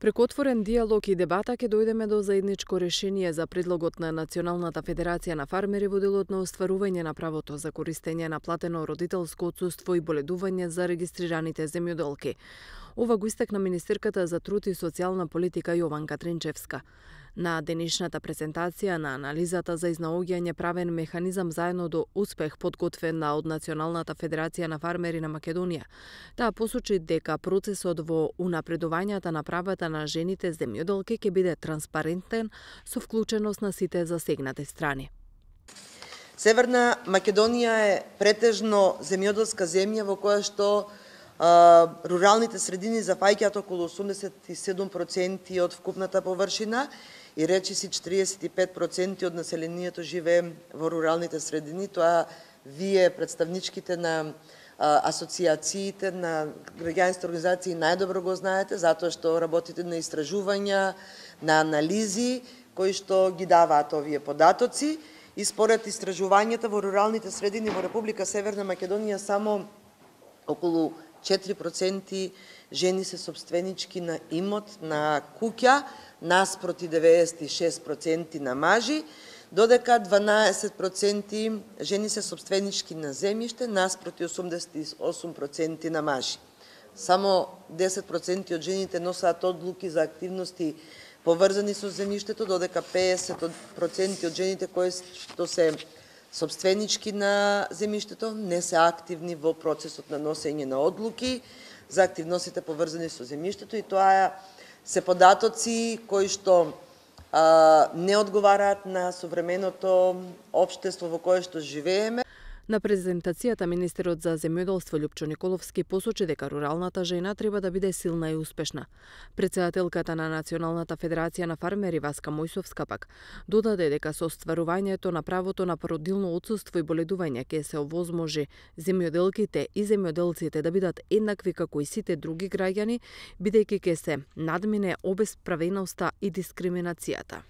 Преку отворен диалог и дебата ќе дојдеме до заедничко решение за предлогот на Националната федерација на фармери во делот на остварување на правото за користење на платено родителско отсуство и боледување за регистрираните земјоделки. Ова го истакна министерката за труд и социјална политика Јованка Тринчевска. На денешната презентација на анализата за изнаоѓање правен механизам заедно до успех подготвена од Националната федерација на фармери на Македонија, таа посочи дека процесот во унапредувањето на правата на жените земјоделки ќе биде транспарентен со вклученост на сите засегнати страни. Северна Македонија е претежно земјоделска земја во која што руралните средини зафаќаат околу 87% од вкупната површина и речиси 45% од населението живее во руралните средини. Тоа вие, представничките на асоциациите, на граѓанските организации најдобро го знаете, затоа што работите на истражувања, на анализи кои што ги даваат овие податоци. И според истражувањата во руралните средини во Република Северна Македонија само околу 4% жени се собственички на имот, на куќа, наспроти 96% на мажи, додека 12% жени се собственички на земјиште, наспроти 88% на мажи. Само 10% од жените носат одлуки за активности поврзани со земјиштето, додека 50% од жените кои што се собственички на земјиштето не се активни во процесот на носење на одлуки за активностите поврзани со земјиштето, и тоа се податоци кои што не одговараат на современото општество во кое што живееме. На презентацијата министерот за земјоделство Љупчо Николовски посочи дека руралната жена треба да биде силна и успешна. Претседателката на Националната федерација на фармери Васка Мојсовска пак додаде дека со остварувањето на правото на породилно отсуство и боледување ќе се овозможи земјоделките и земјоделците да бидат еднакви како и сите други граѓани, бидејќи ќе се надмине обесправеноста и дискриминацијата.